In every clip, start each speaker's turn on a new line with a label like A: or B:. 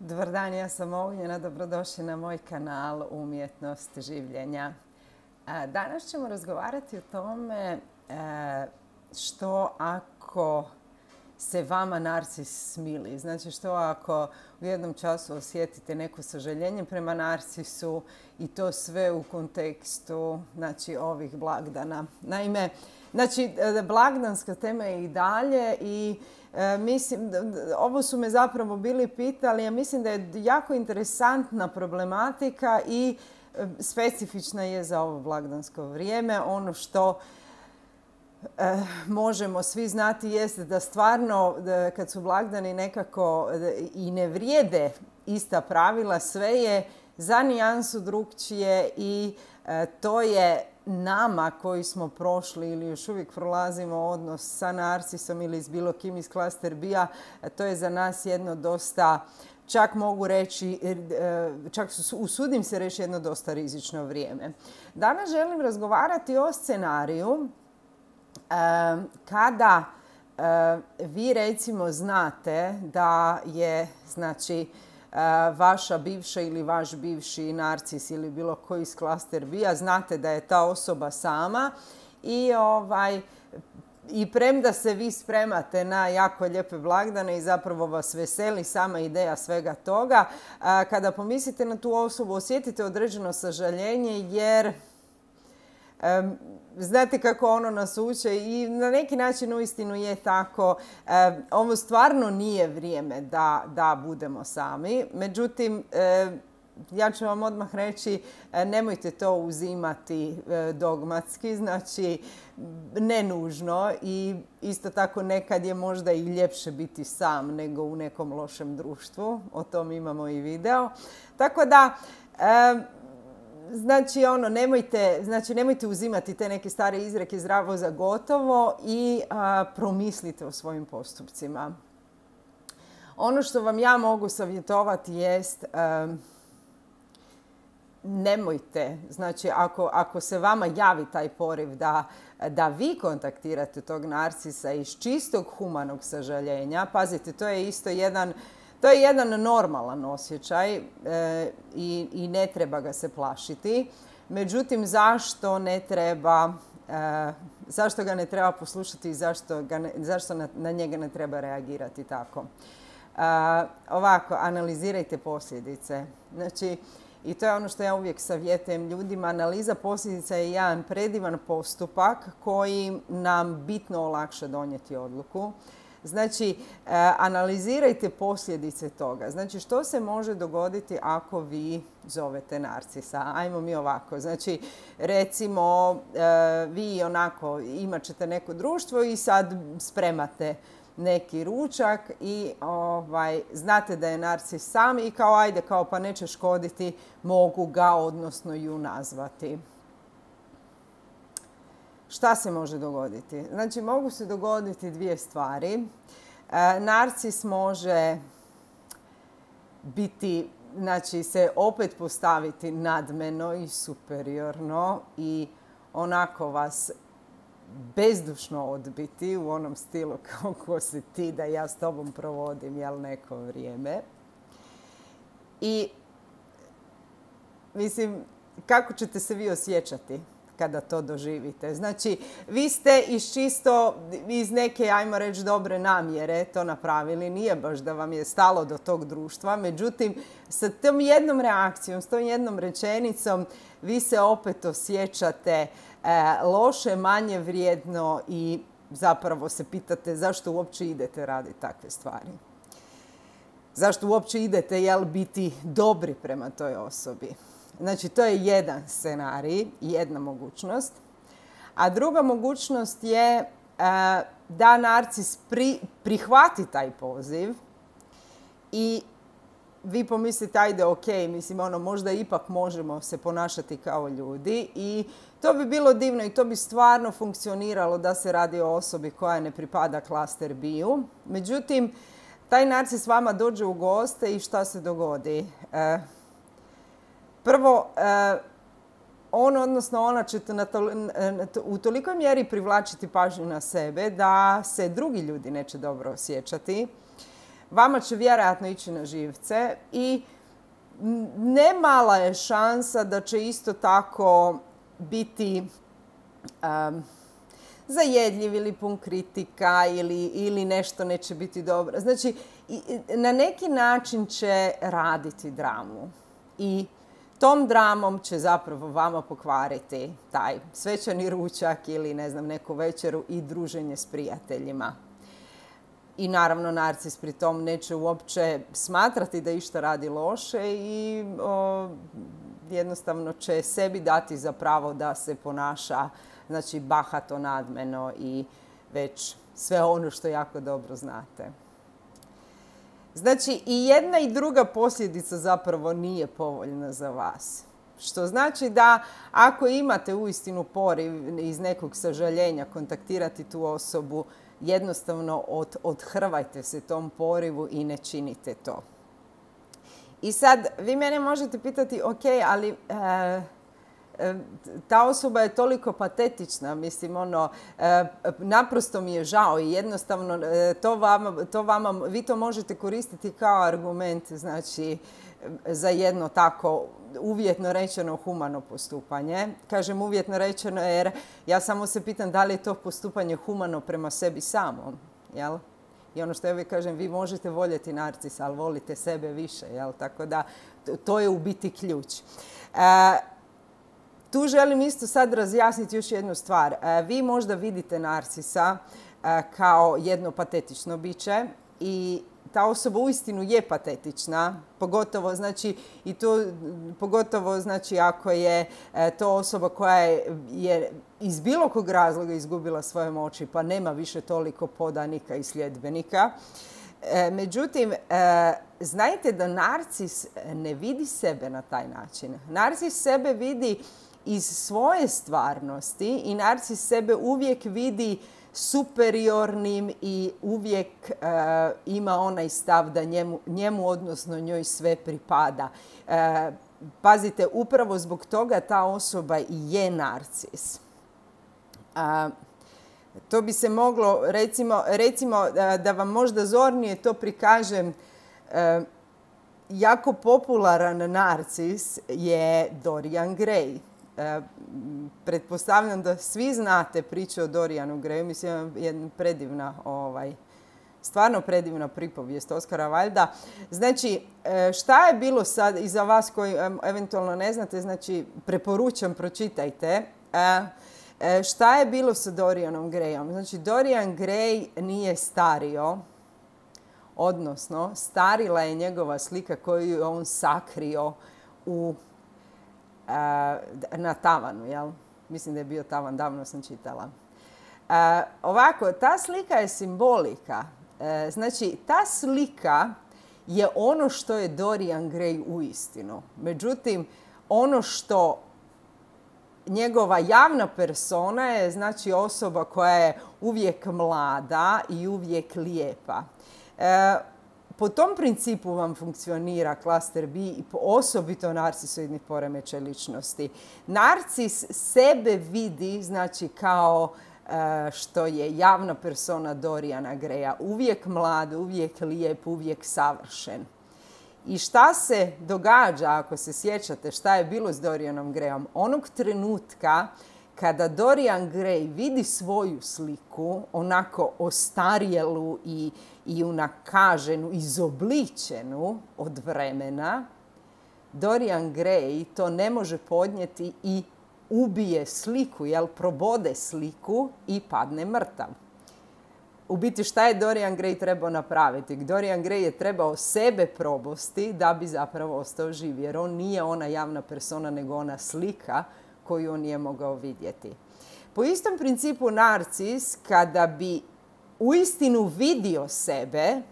A: Dobar dan, ja sam Ognjena, dobrodošli na moj kanal Umjetnost življenja. Danas ćemo razgovarati o tome što ako se vama narcis smili. Znači što ako u jednom času osjetite neko sažaljenje prema narcisu i to sve u kontekstu ovih blagdana. Naime, blagdanska tema je i dalje i mislim, ovo su me zapravo bili pitali, ja mislim da je jako interesantna problematika i specifična je za ovo blagdansko vrijeme. Ono što možemo svi znati jeste da stvarno kad su blagdani nekako i ne vrijede ista pravila, sve je za nijansu drukčije i to je nama koji smo prošli ili još uvijek prolazimo odnos sa narcisom ili s bilo kim iz klaster B-a, to je za nas jedno dosta, čak mogu reći, usudim se reći jedno dosta rizično vrijeme. Danas želim razgovarati o scenariju kada vi recimo znate da je vaša bivša ili vaš bivši narcis ili bilo koji iz klaster B-a, znate da je ta osoba sama i premda se vi spremate na jako lijepe blagdane i zapravo vas veseli sama ideja svega toga, kada pomislite na tu osobu osjetite određeno sažaljenje jer znate kako ono nas uče i na neki način uistinu je tako. Ovo stvarno nije vrijeme da budemo sami. Međutim, ja ću vam odmah reći, nemojte to uzimati dogmatski, znači ne nužno i isto tako nekad je možda i ljepše biti sam nego u nekom lošem društvu. O tom imamo i video. Tako da nemojte uzimati te neke stare izreke zdravo za gotovo i promislite o svojim postupcima. Ono što vam ja mogu savjetovati jest nemojte, znači ako se vama javi taj poriv da vi kontaktirate tog narcisa iz čistog humanog sažaljenja, pazite, to je isto jedan normalan osjećaj i ne treba ga se plašiti. Međutim, zašto ga ne treba poslušati i zašto na njega ne treba reagirati tako? Ovako, analizirajte posljedice. Znači, i to je ono što ja uvijek savjetujem ljudima. Analiza posljedica je jedan predivan postupak koji nam bitno olakša donijeti odluku. Znači, analizirajte posljedice toga. Znači, što se može dogoditi ako vi zovete narcisa? Ajmo mi ovako. Znači, recimo, vi onako imat ćete neko društvo i sad spremate neki ručak i znate da je narcis sam i pa neće škoditi, mogu ga, odnosno ju nazvati. Šta se može dogoditi? Znači, mogu se dogoditi dvije stvari. Narcis može biti, znači se opet postaviti nadmeno i superiorno i onako vas bezdušno odbiti u onom stilu kao ko si ti da ja s tobom provodim neko vrijeme. I mislim, kako ćete se vi osjećati kada to doživite? Znači, vi ste iz neke, ajmo reći, dobre namjere to napravili. Nije baš da vam je stalo do tog društva. Međutim, sa tom jednom reakcijom, s tom jednom rečenicom, vi se opet osjećate loše, manje vrijedno i zapravo se pitate zašto uopće idete raditi takve stvari. Zašto uopće idete, biti dobri prema toj osobi? Znači, to je jedan scenarij, jedna mogućnost. A druga mogućnost je da narcis prihvati taj poziv i vi pomislite, ajde, ok, mislim, možda ipak možemo se ponašati kao ljudi i to bi bilo divno i to bi stvarno funkcioniralo da se radi o osobi koja ne pripada klaster B-u. Međutim, taj narcis vama dođe u goste i šta se dogodi? Prvo, ona će u tolikoj mjeri privlačiti pažnju na sebe da se drugi ljudi neće dobro osjećati. vama će vjerojatno ići na živce i ne mala je šansa da će isto tako biti zajedljiv ili pun kritika ili nešto neće biti dobro. Znači, na neki način će raditi dramu i tom dramom će zapravo vama pokvariti taj svečani ručak ili ne znam, neku večeru i druženje s prijateljima. I naravno narcis pri tom neće uopće smatrati da išta radi loše i jednostavno će sebi dati za pravo da se ponaša, znači, bahato, nadmeno i već sve ono što jako dobro znate. Znači, i jedna i druga posljedica zapravo nije povoljna za vas. Što znači da ako imate uistinu poriv iz nekog sažaljenja kontaktirati tu osobu, jednostavno odhrvajte se tom porivu i ne činite to. I sad, vi mene možete pitati, ok, ali ta osoba je toliko patetična, mislim, naprosto mi je žao i jednostavno vi to možete koristiti kao argument, znači, za jedno tako uvjetno rečeno humano postupanje. Kažem uvjetno rečeno jer ja samo se pitam da li je to postupanje humano prema sebi samom, jel? I ono što ja uvijek kažem, vi možete voljeti narcisa, ali volite sebe više, jel? Tako da to je u biti ključ. Tu želim isto sad razjasniti još jednu stvar. Vi možda vidite narcisa kao jedno patetično biće i ta osoba uistinu je patetična, pogotovo znači ako je to osoba koja je iz bilo kog razloga izgubila svoje moći pa nema više toliko podanika i sljedbenika. Međutim, znajte da narcis ne vidi sebe na taj način. Narcis sebe vidi iz svoje stvarnosti i narcis sebe uvijek vidi superiornim i uvijek ima onaj stav da njemu odnosno njoj sve pripada. Pazite, upravo zbog toga ta osoba i je narcis. To bi se moglo, recimo da vam možda zornije to prikažem, jako popularan narcis je Dorian Gray. Pretpostavljam da svi znate priču o Dorianu Grayu. Mislim, jedna predivna, stvarno predivna pripovijest Oskara Wilda. Znači, šta je bilo sad, i za vas koji eventualno ne znate, znači, preporučam, pročitajte. Šta je bilo sa Dorianom Grayom? Znači, Dorian Gray nije stario, odnosno, starila je njegova slika koju je on sakrio na tavanu, jel? Mislim da je bio tavan, davno sam čitala. Ovako, ta slika je simbolika. Znači, ta slika je ono što je Dorian Gray uistinu. Međutim, ono što njegova javna persona je, znači, osoba koja je uvijek mlada i uvijek lijepa. Po tom principu vam funkcionira klaster B i osobito narcisoidnih poremećaja ličnosti. Narcis sebe vidi, znači, kao što je javna persona Doriana Graya. Uvijek mlad, uvijek lijep, uvijek savršen. I šta se događa, ako se sjećate šta je bilo s Dorianom Grayom? Onog trenutka kada Dorian Gray vidi svoju sliku, onako ostarjelu i unakaženu, izobličenu od vremena, Dorian Gray to ne može podnijeti i ubije sliku, probode sliku i padne mrtav. U biti šta je Dorian Gray trebao napraviti? Dorian Gray je trebao sebe probosti da bi zapravo ostao živ, jer on nije ona javna persona, nego ona slika koju on nije mogao vidjeti. Po istom principu narcis, kada bi uistinu vidio sebe,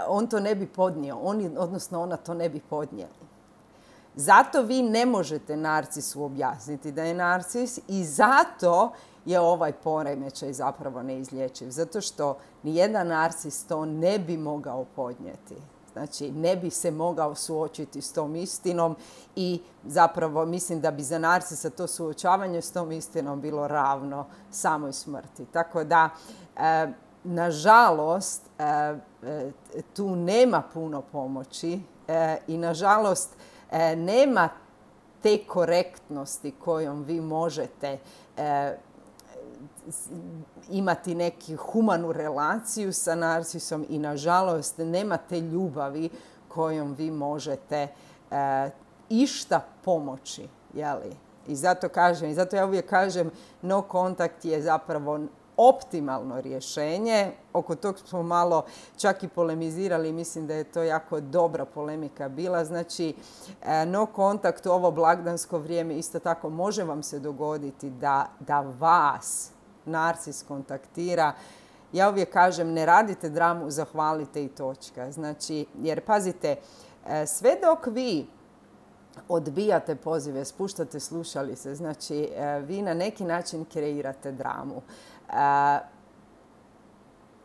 A: on to ne bi podnio, odnosno ona to ne bi podnijeli. Zato vi ne možete narcisu objasniti da je narcis i zato je ovaj poremećaj zapravo neizlječiv. Zato što nijedan narcis to ne bi mogao podnijeti. Znači, ne bi se mogao suočiti s tom istinom i zapravo mislim da bi za narcisa to suočavanje s tom istinom bilo ravno samoj smrti. Tako da nažalost, tu nema puno pomoći i nažalost nema te korektnosti kojom vi možete imati neku humanu relaciju sa narcisom i nažalost nema te ljubavi kojom vi možete išta pomoći. Jeli? I zato ja uvijek kažem no kontakt je zapravo optimalno rješenje. Oko tog smo malo čak i polemizirali. Mislim da je to jako dobra polemika bila. Znači, no kontakt u ovo blagdansko vrijeme isto tako može vam se dogoditi da vas narcis kontaktira. Ja uvijek kažem ne radite dramu, zahvalite i točka. Znači, jer pazite, sve dok vi odbijate pozive, spuštate slušalice, znači vi na neki način kreirate dramu.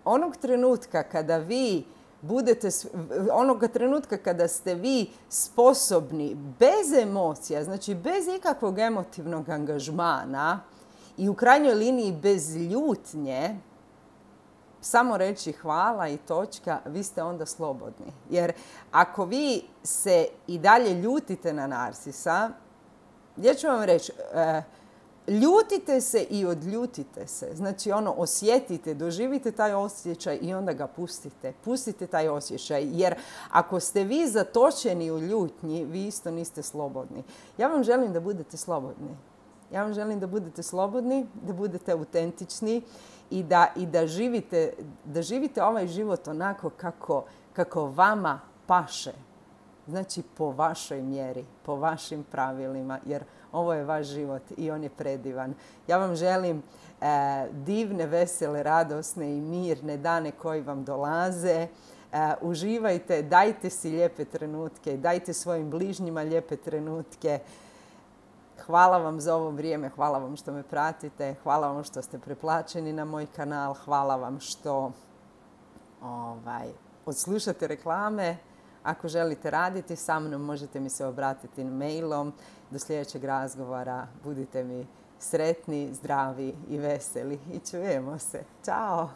A: Onog trenutka kada ste vi sposobni bez emocija, znači bez ikakvog emotivnog angažmana i u krajnjoj liniji bez ljutnje, samo reći hvala i točka, vi ste onda slobodni. Jer ako vi se i dalje ljutite na narcisa, ja ću vam reći, ljutite se i odljutite se. Znači osjetite, doživite taj osjećaj i onda ga pustite. Pustite taj osjećaj. Jer ako ste vi zatočeni u ljutnji, vi isto niste slobodni. Ja vam želim da budete slobodni. Ja vam želim da budete slobodni, da budete autentični i da živite ovaj život onako kako vama paše. Znači po vašoj mjeri, po vašim pravilima, jer ovo je vaš život i on je predivan. Ja vam želim divne, vesele, radosne i mirne dane koji vam dolaze. Uživajte, dajte si lijepe trenutke, dajte svojim bližnjima lijepe trenutke. Hvala vam za ovo vrijeme, hvala vam što me pratite, hvala vam što ste preplaćeni na moj kanal, hvala vam što odslušate reklame. Ako želite raditi sa mnom, možete mi se obratiti mailom. Do sljedećeg razgovora budite mi sretni, zdravi i veseli i čujemo se. Ćao!